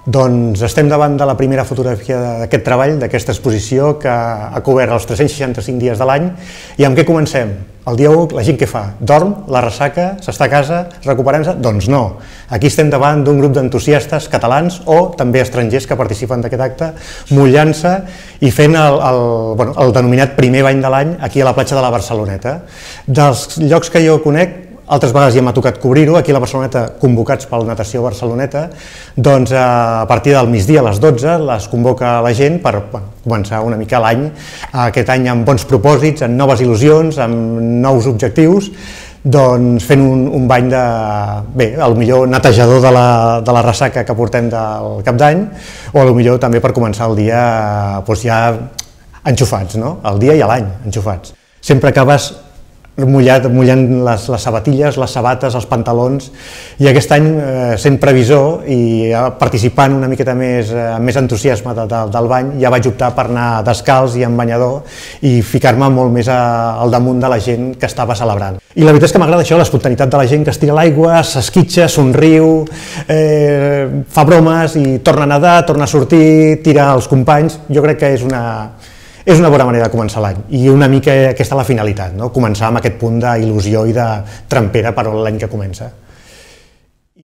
Doncs estem davant de la primera fotografia d'aquest treball, d'aquesta exposició que ha cobert els 365 dies de l'any. I amb què comencem? El dia 1, la gent què fa? Dorm? La ressaca? S'està a casa? Recuperant-se? Doncs no. Aquí estem davant d'un grup d'entusiastes catalans o també estrangers que participen d'aquest acte, mullant-se i fent el denominat primer bany de l'any aquí a la platja de la Barceloneta. Dels llocs que jo conec, altres vegades ja m'ha tocat cobrir-ho, aquí a la Barceloneta, convocats pel Natació Barceloneta, doncs a partir del migdia a les 12 les convoca la gent per començar una mica l'any, aquest any amb bons propòsits, amb noves il·lusions, amb nous objectius, doncs fent un bany de, bé, potser netejador de la ressaca que portem del cap d'any, o potser també per començar el dia ja enxufats, no? El dia i l'any enxufats. Sempre acabes mullant les sabatilles, les sabates, els pantalons, i aquest any, sent previsor i participant una miqueta més, amb més entusiasme del bany, ja vaig optar per anar descalç i amb banyador i ficar-me molt més al damunt de la gent que estava celebrant. I la veritat és que m'agrada això, l'espontaneïtat de la gent que es tira a l'aigua, s'esquitxa, somriu, fa bromes i torna a nedar, torna a sortir, tira els companys. Jo crec que és una bona manera de començar l'any i una mica aquesta és la finalitat, no? Començar amb aquest punt d'il·lusió i de trempera per l'any que comença.